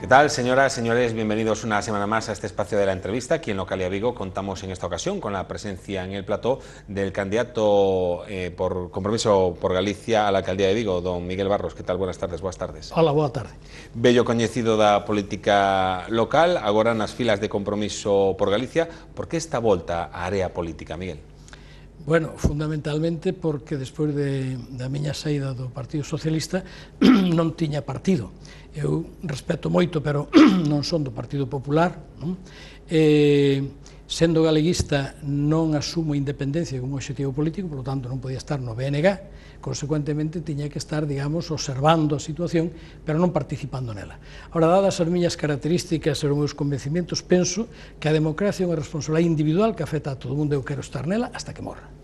tal, señoras, señores? Bienvenidos una semana más a este espacio de la entrevista. Aquí en Localia Vigo contamos en esta ocasión con la presencia en el plató del candidato por Compromiso por Galicia a la alcaldía de Vigo, don Miguel Barros. ¿Qué tal? Buenas tardes. Boas tardes. Hola, boa tarde. Bello coñecido da política local, agora nas filas de Compromiso por Galicia. Por que esta volta á área política, Miguel? Bueno, fundamentalmente porque despois da miña saída do Partido Socialista non tiña partido. Eu respeto moito, pero non son do Partido Popular, non? Sendo galeguista non asumo a independencia como obxectivo político, por lo tanto non podía estar no BNG, consecuentemente tiña que estar, digamos, observando a situación, pero non participando nela. Ahora, dadas as miñas características e os meus convencimientos, penso que a democracia é unha responsabilidade individual que afecta a todo o mundo. Eu quero estar nela hasta que morra.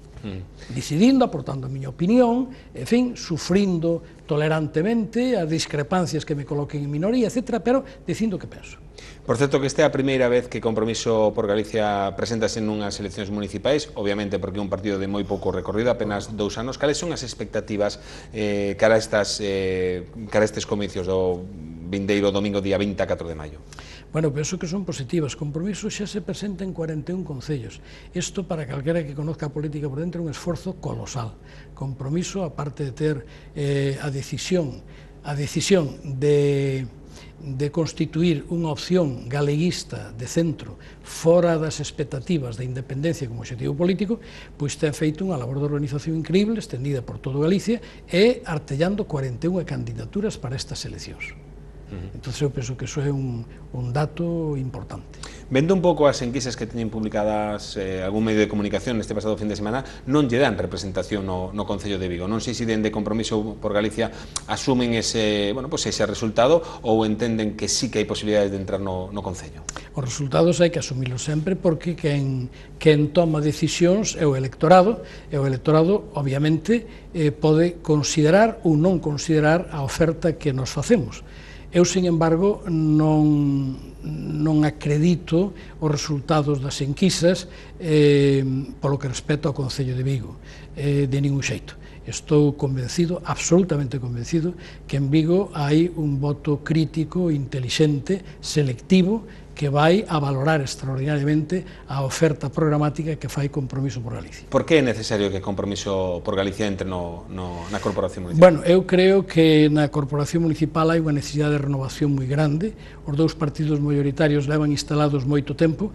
Decidindo, aportando a miña opinión, en fin, sufrindo tolerantemente as discrepancias que me coloquen en minoría, etc., pero dicindo o que penso. Por certo, que esta é a primeira vez que Compromiso por Galicia presentase nunhas eleccións municipais, obviamente porque é un partido de moi pouco recorrido, apenas 2 anos. Cales son as expectativas cara a estes comicios do vindeiro domingo día 24 de maio? Bueno, penso que son positivas. Compromiso xa se presenta en 41 concellos. Isto, para calquera que conozca a política por dentro, é un esforzo colosal. Compromiso, aparte de ter a decisión de constituir unha opción galeguista de centro fora das expectativas da independencia como obxectivo político, pois ten feito unha labor de organización increíble, estendida por todo Galicia, e artellando 41 candidaturas para estas eleccións. Entón, eu penso que iso é un dato importante. Vendo un pouco as enquisas que teñen publicadas algún medio de comunicación neste pasado fin de semana, non lle dan representación no Concello de Vigo. Non sei se dende Compromiso por Galicia asumen ese resultado ou entenden que sí que hai posibilidades de entrar no Concello. Os resultados hai que asumilos sempre porque quen toma decisións é o electorado, e o electorado, obviamente, pode considerar ou non considerar a oferta que nos facemos. Eu, sin embargo, non acredito os resultados das enquisas polo que respecto ao Concello de Vigo, de ningún xeito. Estou convencido, absolutamente convencido, que en Vigo hai un voto crítico, intelixente, selectivo, que vai a valorar extraordinariamente a oferta programática que fai Compromiso por Galicia. Por que é necesario que Compromiso por Galicia entre na Corporación Municipal? Bueno, eu creo que na Corporación Municipal hai unha necesidade de renovación moi grande. Os dous partidos maioritarios levan instalados moito tempo,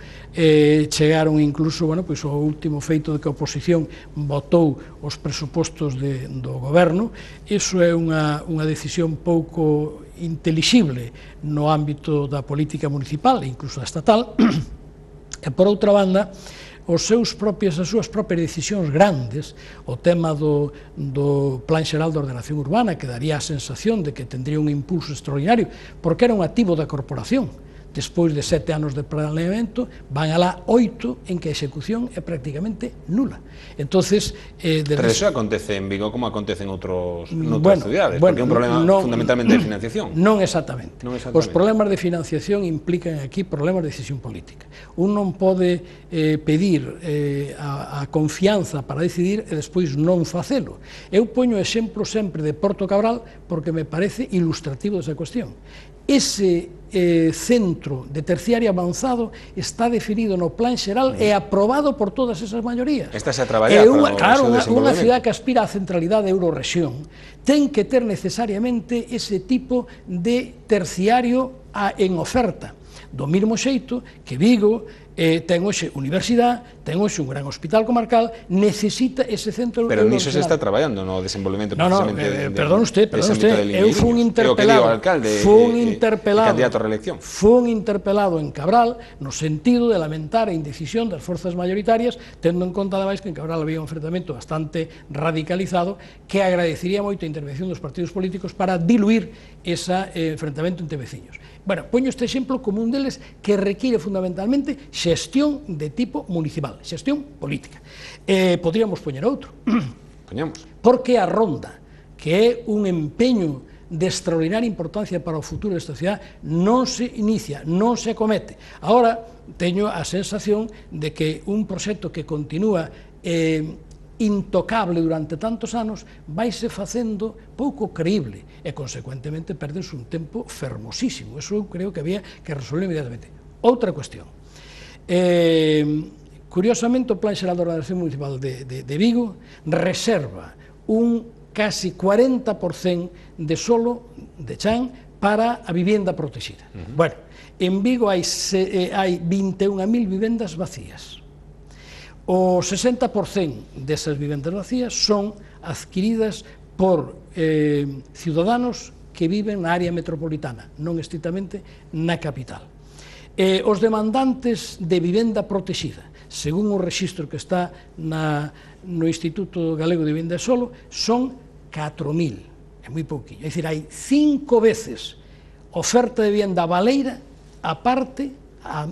chegaron incluso, bueno, pois o último feito de que a oposición votou os presupostos do goberno. Iso é unha decisión pouco intelixible no ámbito da política municipal e incluso da estatal, e por outra banda, as súas propias decisións grandes, o tema do Plan Xeral de Ordenación Urbana, que daría a sensación de que tendría un impulso extraordinario, porque era un activo da corporación. Despois de 7 anos de planeamento, van alá 8 en que a execución é prácticamente nula. Entonces, pero eso acontece en Vigo como acontece en outras cidades, porque é un problema fundamentalmente de financiación. Non exactamente. Os problemas de financiación implican aquí problemas de decisión política. Un non pode pedir a confianza para decidir e despois non facelo. Eu poño exemplo sempre de Porto Cabral porque me parece ilustrativo desa cuestión. Ese centro de terciario avanzado está definido no Plan Xeral e aprobado por todas esas maiorías. Estás a traballar para o seu desenvolvemento. Unha cidade que aspira á centralidade Eurorexión ten que ter necesariamente ese tipo de terciario en oferta. Do mesmo xeito que Vigo ten hoxe universidade, ten hoxe un gran hospital comarcal, necesita ese centro... Pero niso se está traballando no desenvolvemento precisamente... Perdón usted, eu fui un interpelado en Cabral no sentido de lamentar a indecisión das forzas maioritarias, tendo en conta, ademais, que en Cabral había un enfrentamento bastante radicalizado, que agradecería moito a intervención dos partidos políticos para diluir ese enfrentamento entre veciños. Bueno, poño este exemplo como un deles que requiere fundamentalmente xestión de tipo municipal, xestión política. Podríamos poñer outro. Poñamos. Porque a Ronda, que é un empeño de extraordinaria importancia para o futuro desta cidade, non se inicia, non se acomete. Agora, teño a sensación de que un proxecto que continúa intocable durante tantos anos, vaise facendo pouco creíble e, consecuentemente, perdense un tempo fermosísimo. Eso eu creo que había que resolver inmediatamente. Outra cuestión. Curiosamente, o Plan Xeral de Ordenación Municipal de Vigo reserva un casi 40% de solo de chan para a vivenda protegida. Bueno, en Vigo hai 21.000 vivendas vacías. O 60% desas vivendas vacías son adquiridas por ciudadanos que viven na área metropolitana, non estritamente na capital. Os demandantes de vivenda protegida, según o rexistro que está no Instituto Galego de Vivenda e Solo, son 4.000, é moi pouquinho. É dicir, hai 5 veces oferta de vivenda baleira, aparte,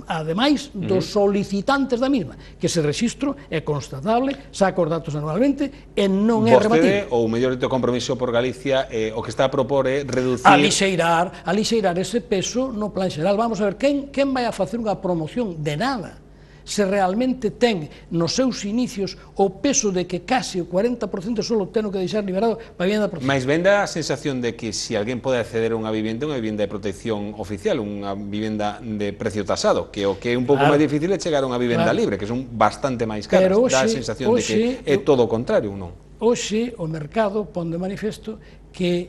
ademais dos solicitantes da misma, que ese rexistro é constatable, saca os datos anualmente e non é rebatible. Vostede, ou mellor dito Compromiso por Galicia, o que está a propor é reducir... Alixeirar ese peso no Plan Xeral. Vamos a ver, quen vai a facer unha promoción de nada se realmente ten nos seus inicios o peso de que casi o 40% só ten que deixar liberado para a vivenda protegida. Mais vende a sensación de que se alguén pode acceder a unha vivenda de protección oficial, unha vivenda de precio tasado, que o que é un pouco máis difícil é chegar a unha vivenda libre, que son bastante máis caras. Dá a sensación de que é todo o contrario, non? Hoxe o mercado pon de manifesto que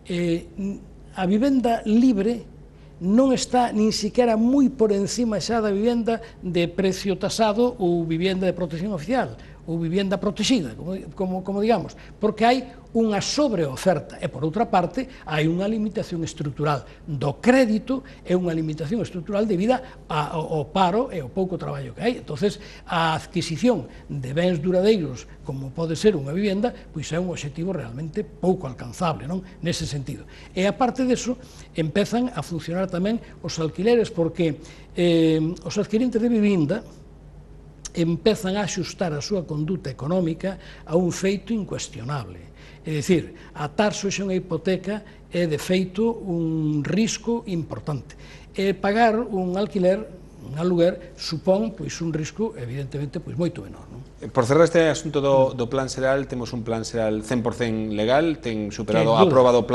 a vivenda libre non está nin siquiera moi por encima xa da vivenda de precio tasado ou vivenda de protección oficial ou vivenda protegida, como digamos, porque hai unha sobreoferta e, por outra parte, hai unha limitación estrutural do crédito e unha limitación estrutural debido ao paro e ao pouco traballo que hai. Entonces, a adquisición de bens duradeiros, como pode ser unha vivenda, pois é un obxectivo realmente pouco alcanzable, non? Nese sentido. E, aparte deso, empezan a funcionar tamén os alquileres, porque os adquirentes de vivenda empezan a axustar a súa conduta económica a un feito incuestionable. É dicir, atarse hoxe unha hipoteca é, de feito, un risco importante. E pagar un alquiler, un aluguer, supón un risco, evidentemente, moito menor. Por cerrar este asunto do Plan Xeral, temos un Plan Xeral 100% legal, ten superado a proba do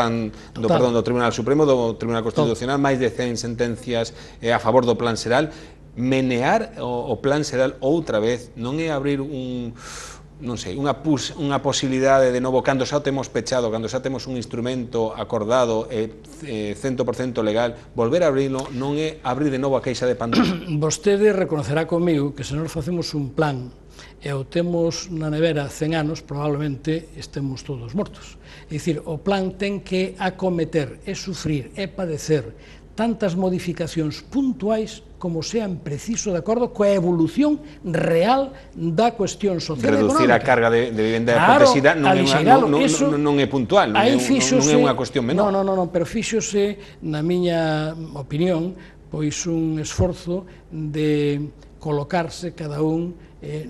Tribunal Supremo, do Tribunal Constitucional, máis de 100 sentencias a favor do Plan Xeral. Menear o Plan Xeral outra vez non é abrir unha posibilidade de novo, cando xa temos pechado, cando xa temos un instrumento acordado e 100% legal, volver a abrilo non é abrir de novo a caixa de Pandora. Vostede reconocerá comigo que se nós facemos un plan e o temos na nevera 100 anos, probablemente estemos todos mortos. É dicir, o plan ten que acometer e sufrir e padecer tantas modificacións puntuais como sean preciso de acordo coa evolución real da cuestión social e económica. Reducir a carga de vivenda protegida non é puntual, non é unha cuestión menor. Non, pero fíxose, na miña opinión, pois un esforzo de colocarse cada un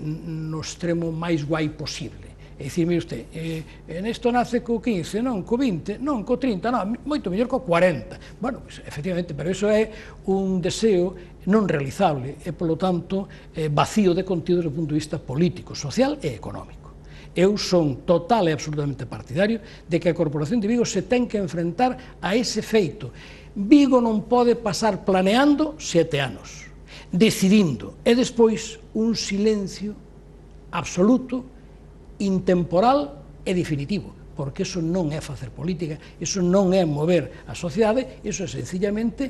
no extremo máis guai posible. É dicir, mire usted, nesto nace co 15, non co 20, non co 30, non, moito mellor co 40. Bueno, pues, efectivamente, pero iso é un deseo non realizable e, polo tanto, vacío de contido desde o punto de vista político, social e económico. Eu son total e absolutamente partidario de que a Corporación de Vigo se ten que enfrentar a ese feito. Vigo non pode pasar planeando 7 anos, decidindo, e despois un silencio absoluto, intemporal e definitivo, porque iso non é facer política, iso non é mover a sociedade, iso é sencillamente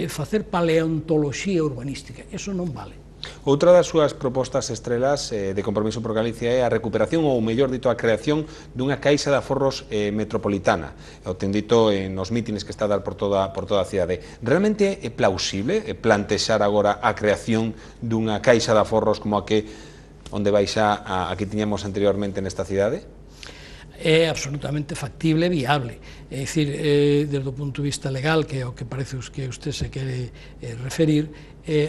facer paleontoloxía urbanística, iso non vale. Outra das súas propostas estrelas de Compromiso por Galicia é a recuperación, ou mellor dito, a creación dunha caixa de aforros metropolitana. O ten dito nos mítines que está a dar por toda a cidade. Realmente é plausible plantexar agora a creación dunha caixa de aforros como a que onde vai xa a que tiñamos anteriormente nesta cidade? É absolutamente factible e viable. É dicir, desde o punto de vista legal, que é o que parece que usted se quere referir,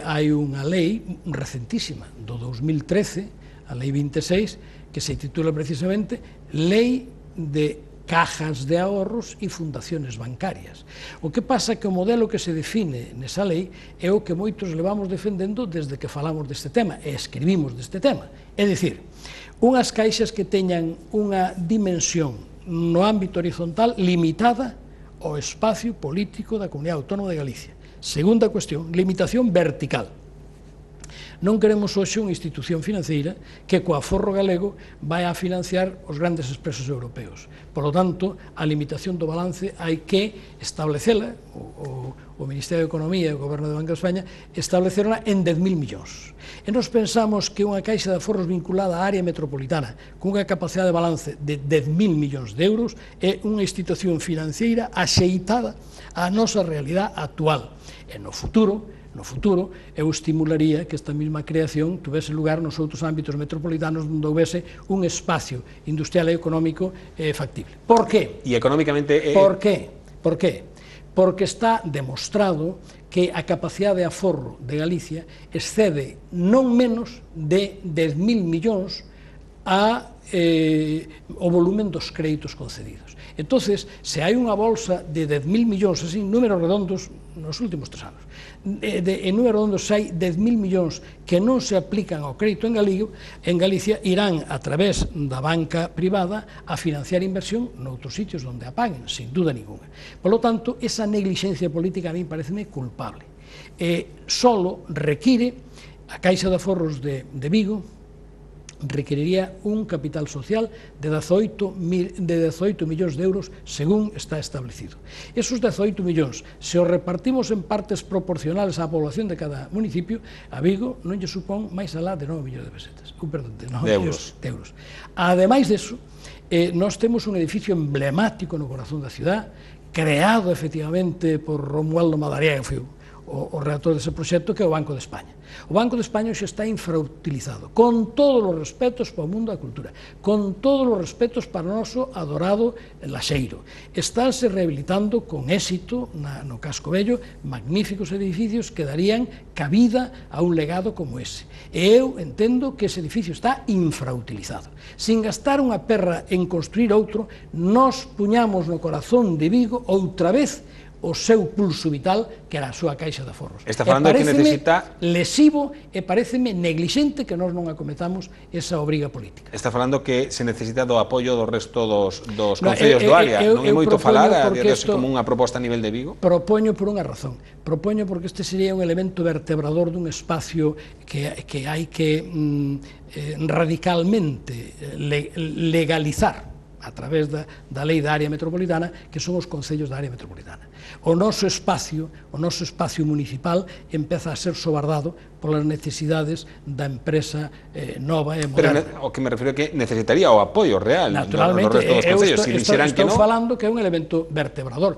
hai unha lei recentísima, do 2013, a lei 26, que se titula precisamente Lei de cajas de ahorros e fundaciones bancarias. O que pasa que o modelo que se define nesa lei é o que moitos levamos defendendo desde que falamos deste tema e escribimos deste tema. É dicir, unhas caixas que teñan unha dimensión no ámbito horizontal limitada ao espacio político da Comunidade Autónoma de Galicia. Segunda cuestión, limitación vertical. Non queremos hoxe unha institución financeira que coa aforro galego vai a financiar os grandes expresos europeos. Por lo tanto, a limitación do balance hai que establecela, o Ministerio de Economía e o Goberno de Banco de España establecerla en 10.000 millóns. E nos pensamos que unha caixa de aforros vinculada á área metropolitana con unha capacidade de balance de 10.000 millóns de euros é unha institución financeira axeitada á nosa realidade actual. E no futuro, eu estimularía que esta mesma creación tuvese lugar nos outros ámbitos metropolitanos onde houvese un espacio industrial e económico factible. Por qué? E económicamente... Por qué? Por qué? Porque está demostrado que a capacidade de aforro de Galicia excede non menos de 10.000 millóns o volumen dos créditos concedidos. Entonces, se hai unha bolsa de 10.000 millóns, así, números redondos, nos últimos 3 anos, en números redondos hai 10.000 millóns que non se aplican ao crédito en Galicia, irán a través da banca privada a financiar inversión noutros sitios onde a paguen, sin duda ninguna. Por lo tanto, esa negligencia política a mí pareceme culpable. Solo require a Caixa de Aforros de Vigo requeriría un capital social de 18 millóns de euros según está establecido. Esos 18 millóns, se os repartimos en partes proporcionales á población de cada municipio, a Vigo non lle supón máis alá de 9 millóns de pesetas, de euros. Ademais deso, nós temos un edificio emblemático no corazón da cidade, creado efectivamente por Romualdo Madariaga, que foi o redactor dese proxecto, que é o Banco de España. O Banco de España xa está infrautilizado, con todos os respetos para o mundo da cultura, con todos os respetos para o noso adorado Laxeiro. Estánse rehabilitando con éxito no Casco Vello magníficos edificios que darían cabida a un legado como ese. E eu entendo que ese edificio está infrautilizado. Sin gastar unha perra en construir outro, nos puñamos no corazón de Vigo outra vez o seu pulso vital, que era a súa caixa de aforros. Está falando que necesita... lesivo e pareceme neglixente que nós non acometamos esa obriga política. Está falando que se necesita do apoio do resto dos concellos do área. Non é moito falar a día de hoxe como unha proposta a nivel de Vigo? Propoño por unha razón. Propoño porque este sería un elemento vertebrador dun espacio que hai que radicalmente legalizar a través da lei da área metropolitana, que son os concellos da área metropolitana. O noso espacio municipal empeza a ser sobardado polas necesidades da empresa nova e moderna. Pero o que me refiro é que necesitaría o apoio real do resto dos concellos. Estou falando que é un elemento vertebrador.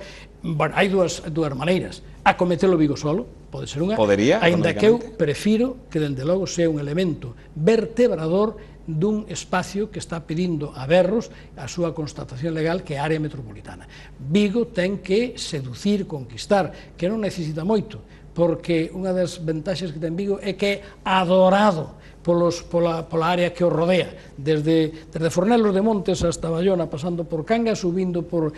Hai dúas maneiras. Acometelo Vigo solo, pode ser unha, aínda que eu prefiro que, dende logo, sea un elemento vertebrador dun espacio que está pedindo a berros a súa constatación legal, que é a área metropolitana. Vigo ten que seducir, conquistar, que non necesita moito, porque unha das ventaxas que ten Vigo é que é adorado pola área que o rodea, desde Fornelos de Montes hasta Bayona, pasando por Cangas, subindo por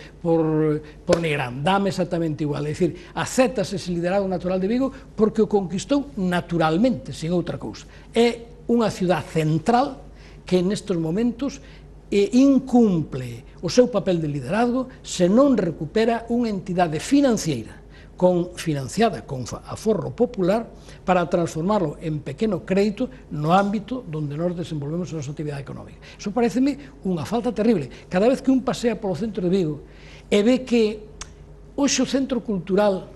Nigrán. Dame exactamente igual, é dicir, acéptase ese liderado natural de Vigo porque o conquistou naturalmente, sin outra cousa. É unha ciudad central que nestes momentos incumple o seu papel de liderazgo se non recupera unha entidade financiera financiada con aforro popular para transformarlo en pequeno crédito no ámbito onde nós desenvolvemos a nosa actividade económica. Iso pareceme unha falta terrible. Cada vez que un pasea polo centro de Vigo e ve que hoxe o centro cultural,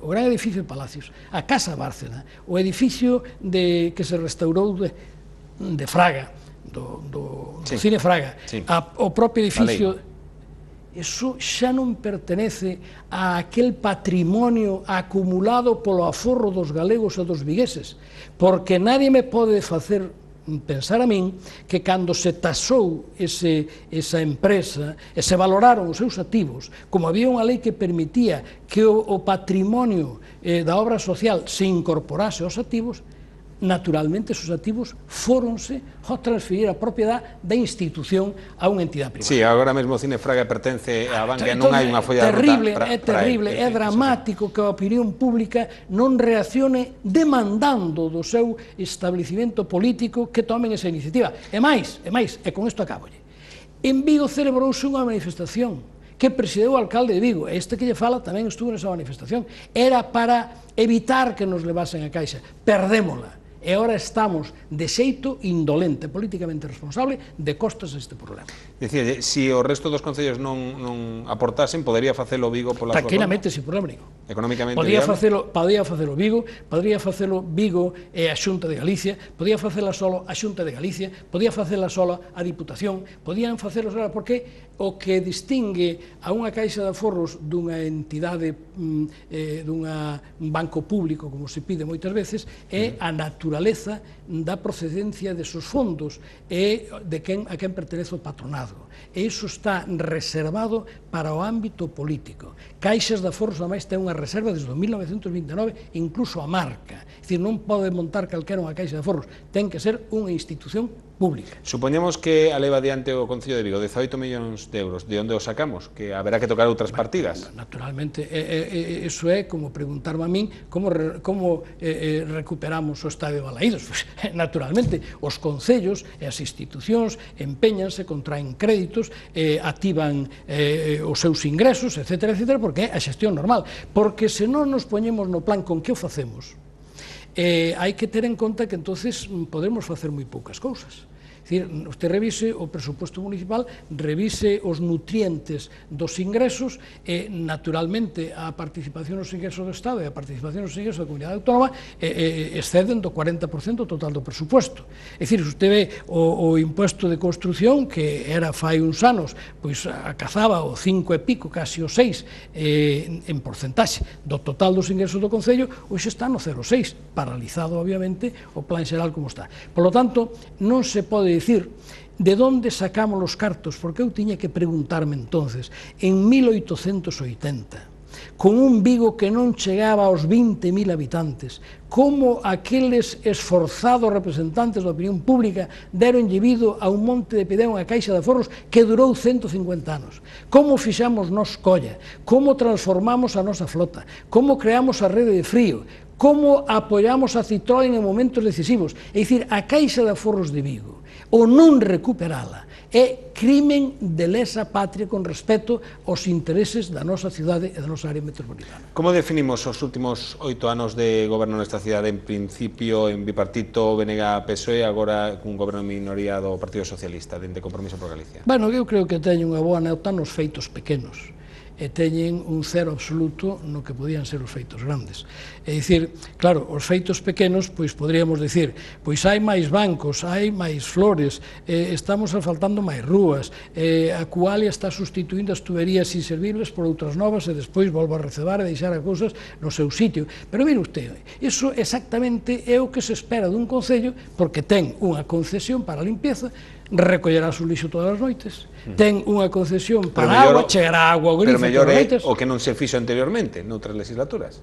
o gran edificio de Palacios, a Casa Bárcena, o edificio que se restaurou de Fraga, do Cine Fraga, o propio edificio, eso xa non pertenece a aquel patrimonio acumulado polo aforro dos galegos e dos vigueses, porque nadie me pode facer pensar a min que cando se tasou esa empresa e se valoraron os seus activos, como había unha lei que permitía que o patrimonio da obra social se incorporase aos activos, naturalmente esos activos fóronse ao transferir a propiedade da institución a unha entidade privada. Sí, agora mesmo o Cine Fraga pertence á banca e non hai unha folla de ruta É terrible, é dramático que a opinión pública non reaccione demandando do seu establecimento político que tomen esa iniciativa. E máis, e con isto acabo. En Vigo celebrouse unha manifestación que presideu o alcalde de Vigo, este que lle fala tamén estuvo nesa manifestación, era para evitar que nos levasen a Caixa, perdémola, e agora estamos de xeito indolente, políticamente responsable, de costas a este problema. Dicía, se o resto dos concellos non aportasen, podería facelo Vigo pola súa conta? Tranquilamente, sin problema ningún. Económicamente podía facelo Vigo, podría facelo Vigo e a Xunta de Galicia, podía facela solo a Xunta de Galicia, podía facela solo a Diputación, podían facelo solo, porque o que distingue a unha caixa de aforros dunha entidade, un banco público, como se pide moitas veces, é a naturaleza da procedencia desos fondos e de a quen pertenece o patronado. E iso está reservado para o ámbito político. Caixas de aforros, ademais, ten unha reserva desde 1929, incluso a marca. É dicir, non pode montar calquera unha caixa de aforros, ten que ser unha institución pública. Supoñemos que a leva adiante o Concello de Vigo 18 millóns de euros. De onde os sacamos? Que haberá que tocar outras partidas? Naturalmente, eso é como preguntarme a min como recuperamos o Estadio de Balaídos. Pues, naturalmente, os concellos e as institucións empeñanse, contraen créditos, activan os seus ingresos, etcétera, etcétera, porque é a xestión normal. Porque se non nos poñemos no plan con que o facemos, hai que ter en conta que entonces podemos facer moi poucas cousas. É dicir, usted revise o presupuesto municipal, revise os nutrientes dos ingresos e, naturalmente, a participación nos ingresos do Estado e a participación nos ingresos da Comunidade Autónoma exceden do 40% total do presupuesto. É dicir, se usted ve o impuesto de construción, que era fai uns anos, pois acazaba o 5 e pico, casi o 6, en porcentaxe do total dos ingresos do Concello, hoxe está no 0,6, paralizado, obviamente, o plan xeral como está. Por lo tanto, non se pode dicir de onde sacamos os cartos, porque eu tiña que preguntarme entonces, en 1880, con un Vigo que non chegaba aos 20.000 habitantes, como aqueles esforzados representantes da opinión pública deron llevido a un monte de Pideo unha caixa de aforros que durou 150 anos, como fixamos nos colla, como transformamos a nosa flota, como creamos a rede de frío, como apoiamos a Citroën en momentos decisivos. É dicir, a caixa de aforros de Vigo, o non recuperala, é crimen de lesa patria con respecto aos intereses da nosa cidade e da nosa área metropolitana. Como definimos os últimos 8 anos de goberno nesta cidade, en principio en bipartito BNG-PSOE, agora cun goberno en minoría do Partido Socialista, dende Compromiso por Galicia? Bueno, eu creo que teño unha boa nota nos feitos pequenos, e teñen un cero absoluto no que podían ser os feitos grandes. É dicir, claro, os feitos pequenos, pois poderíamos dicir, pois hai máis bancos, hai máis flores, estamos asfaltando máis rúas, a Cualia está sustituindo as tuberías inservibles por outras novas e despois volve a recebar e deixar as cousas no seu sitio. Pero mire usted, iso exactamente é o que se espera dun concello, porque ten unha concesión para a limpieza, recollerá o lixo todas as noites, ten unha concesión para a agua, chegará agua ao grifo todas as noites. Pero mellor é o que non se fixo anteriormente, noutras legislaturas.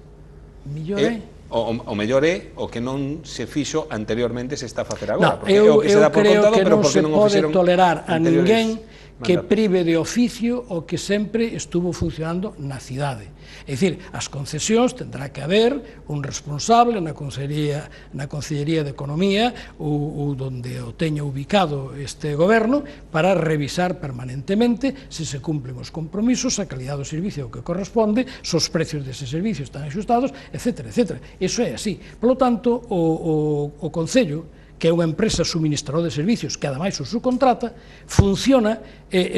Mellor é? O mellor é o que non se fixo anteriormente se está a facer agora. Non, eu creo que non se pode tolerar a ninguén que prive de oficio o que sempre estuvo funcionando na cidade. É dicir, as concesións tendrá que haber un responsable na Consellería de Economía ou donde o teña ubicado este goberno para revisar permanentemente se se cumplen os compromisos, a calidad do servicio que corresponde, se os precios dese servicio están axustados, etc. etc. Iso é así. Por lo tanto, o Concello, que é unha empresa suministradora de servicios que ademais o subcontrata, funciona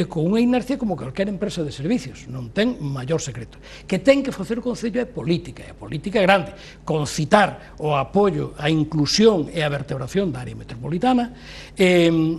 con unha inercia como calquera empresa de servicios, non ten maior secreto. Que ten que facer o Concello é política, e a política é grande, concitar o apoio, a inclusión e a vertebración da área metropolitana,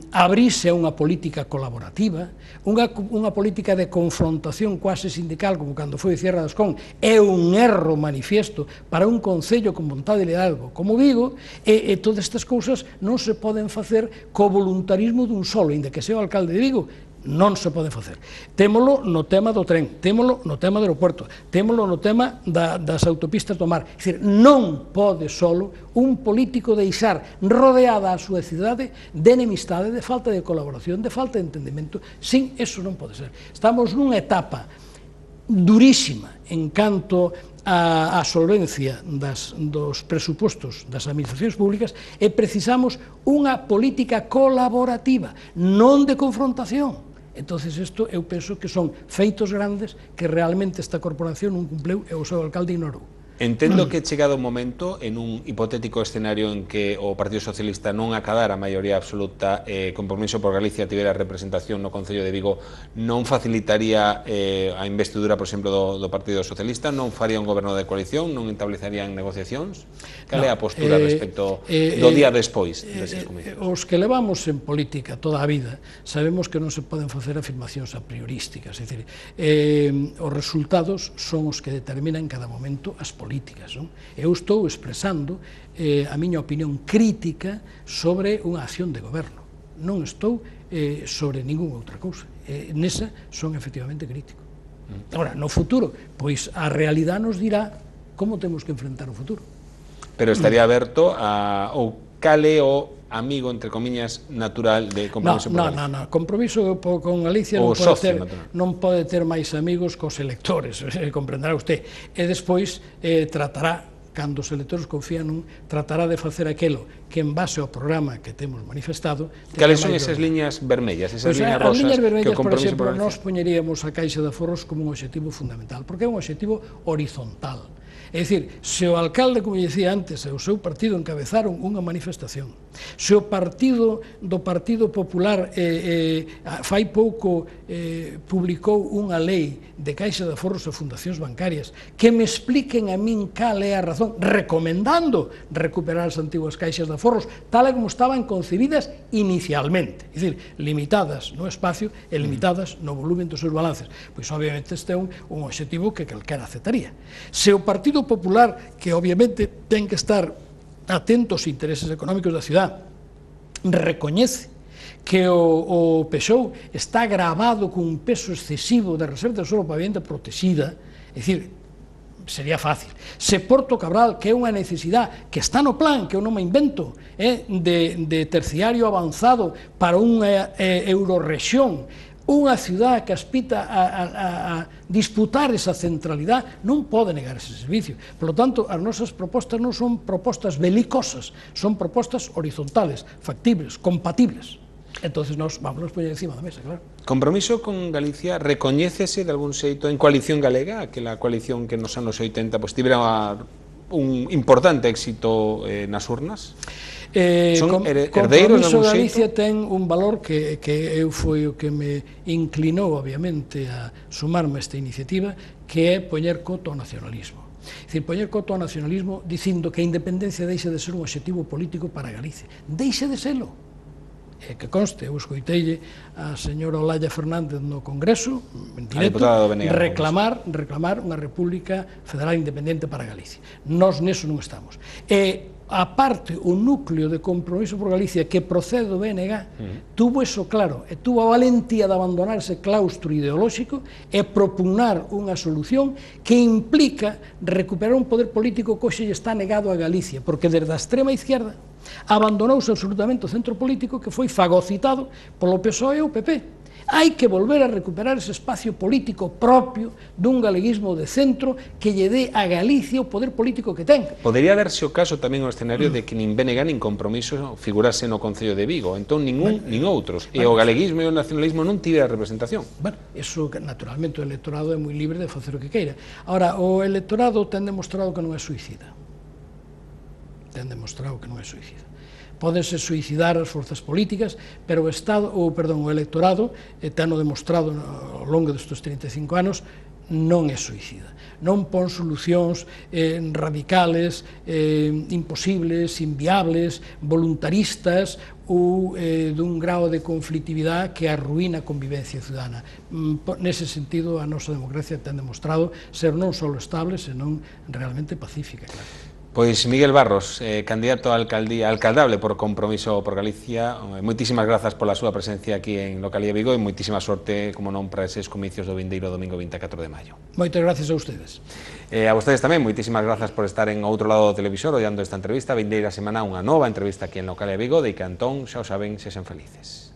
abrirse a unha política colaborativa, unha política de confrontación quase sindical, como cando foi Cierra das Con, é un erro manifiesto para un Concello con vontade de liderazgo como Vigo, e todas estas cousas non se poden facer co voluntarismo dun solo, inda que sea o alcalde de Vigo. non se pode facer. Témolo no tema do tren, témolo no tema do aeropuerto, témolo no tema das autopistas do mar. É dicir, non pode solo un político deixar rodeada a súa cidade de enemistade, de falta de colaboración, de falta de entendemento. Sin, eso non pode ser. Estamos nunha etapa durísima en canto a solvencia dos presupostos das administracións públicas e precisamos unha política colaborativa, non de confrontación. Entonces, isto eu penso que son feitos grandes que realmente esta corporación non cumpleu e o seu alcalde ignorou. Entendo que chegado o momento, en un hipotético escenario en que o Partido Socialista non acadara a maioría absoluta, Compromiso por Galicia tivera representación no Concello de Vigo, non facilitaría a investidura, por exemplo, do Partido Socialista, non faría un goberno de coalición, non establecerían negociacións? Cal é a postura respecto do día despois deses comicios? Os que levamos en política toda a vida sabemos que non se poden facer afirmacións a priorísticas, é dicir, os resultados son os que determinan en cada momento as políticas. Eu estou expresando a miña opinión crítica sobre unha acción de goberno. Non estou sobre ninguna outra cousa. Nesa son efectivamente crítico. Agora, no futuro, pois a realidade nos dirá como temos que enfrentar o futuro. Pero estaría aberto a ou cale o amigo, entre comiñas, natural de Compromiso por Galicia? Non, Compromiso con Galicia non pode ter máis amigos cos electores, comprenderá usted. E despois tratará, cando os electores confían nun, tratará de facer aquilo que en base ao programa que temos manifestado... Cales son esas liñas vermellas, esas liñas rosas que o Compromiso por Galicia? Nós poñeríamos a Caixa de Aforros como un objetivo fundamental, porque é un objetivo horizontal. É dicir, se o alcalde, como dicía antes, e o seu partido encabezaron unha manifestación, se o partido do Partido Popular fai pouco publicou unha lei de Caixa de Aforros e fundacións bancarias que me expliquen a min cal é a razón, recomendando recuperar as antiguas caixas de aforros tal e como estaban concebidas inicialmente, é dicir, limitadas no espacio e limitadas no volumen dos seus balances. Pois obviamente este é un objetivo que calquera aceptaría. Se o Partido Popular, que obviamente ten que estar atento aos intereses económicos da cidade, recoñece que o PSOE está gravado con un peso excesivo de reserva de suelo para vivenda protegida, é dicir, sería fácil. Se Porto Cabral, que é unha necesidade que está no plan, que eu non me invento, de terciario avanzado para unha eurorrexión, unha cidade que aspita a disputar esa centralidade, non pode negar ese servicio. Por lo tanto, as nosas propostas non son propostas belicosas, son propostas horizontales, factibles, compatibles. Entonces nos vamos a poñer encima da mesa, claro. Compromiso con Galicia recoñécese de algún xeito en Coalición Galega, aquela coalición que nos anos 80 tivera un importante éxito nas urnas? Son herdeiros de algún xeito? Compromiso Galicia ten un valor que eu foi o que me inclinou, obviamente, a sumarme a esta iniciativa, que é poñer coto ao nacionalismo. É dicir, poñer coto ao nacionalismo dicindo que a independencia deixa de ser un objetivo político para Galicia. Deixa de serlo. Que conste, eu escoiteille a señora Olalla Fernández no Congreso, en directo, reclamar unha república federal independente para Galicia. Nós neso non estamos. E a parte, o núcleo de Compromiso por Galicia que procede do BNG tuvo eso claro, e tuvo a valentía de abandonar ese claustro ideolóxico e propugnar unha solución que implica recuperar un poder político que hoxe está negado a Galicia, porque desde a extrema izquierda abandonouse absolutamente o centro político que foi fagocitado polo PSOE e o PP. Hai que volver a recuperar ese espacio político propio dun galeguismo de centro que lle dé a Galicia o poder político que ten. Podería darse o caso tamén o escenario de que nin BNG nin Compromiso figurase no Concello de Vigo, entón ningún nin outros, e o galeguismo e o nacionalismo non tivera representación. Bueno, eso naturalmente o electorado é moi libre de facer o que queira. Ahora, o electorado ten demostrado que non é suicida. Ten demostrado que non é suicida. Pódense suicidar as forzas políticas, pero o electorado, teno demostrado ao longo destes 35 anos, non é suicida. Non pon solucións radicales, imposibles, inviables, voluntaristas ou dun grao de conflictividade que arruína a convivencia ciudadana. Nese sentido, a nosa democracia ten demostrado ser non só estable, senón realmente pacífica, claro. Pois Miguel Barros, candidato a alcaldable por Compromiso por Galicia, moitísimas grazas pola súa presencia aquí en Localía Vigo e moitísima sorte, como non, para eses comicios do vindeiro domingo 24 de maio. Moitas gracias a ustedes. A vostedes tamén, moitísimas grazas por estar en outro lado do televisor ollando esta entrevista. Vindeira semana unha nova entrevista aquí en Localía Vigo, de que Antón, xa o saben, sexan felices.